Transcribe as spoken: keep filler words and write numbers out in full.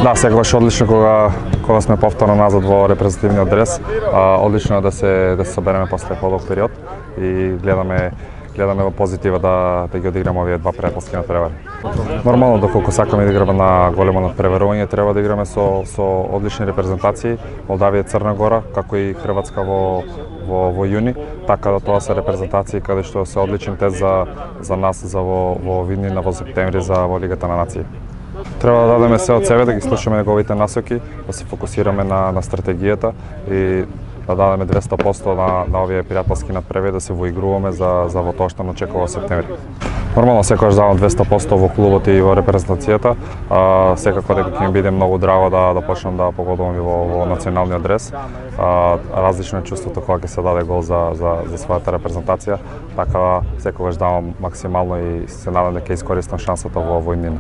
Да, секогаш одлично кога кога сме повторно назад во репрезентативниот дрес. А, одлично е да се да се собереме после подолг период и гледаме гледаме во позитива да да ги одиграме овие два пријателски натпревари. Нормално, доколку сакаме да играме на големо натпреварување, треба да играме со со одлични репрезентации, Молдавија и Црна Гора, како и Хрватска во во во јуни, така да тоа се репрезентации каде што се одличен тест за за нас за во во Виднина во септември за во Лигата на нации. Треба да дадеме се од себе, да ги слушаме неговите насоки, да се фокусираме на на стратегијата и да дадеме двесто проценти на на овие пријателски натпревари, да се воигруваме за за во тоа што не очекува септември. Нормално секогаш давам двесто проценти во клубот и во репрезентацијата. А, секако дека ќе ми биде многу драго да да почнам да погодувам и во во националниот дрес. А, различно е чувството кога ќе се даде гол за за за својата репрезентација, така секогаш давам максимално и се надам дека искористам шансата во во иднина.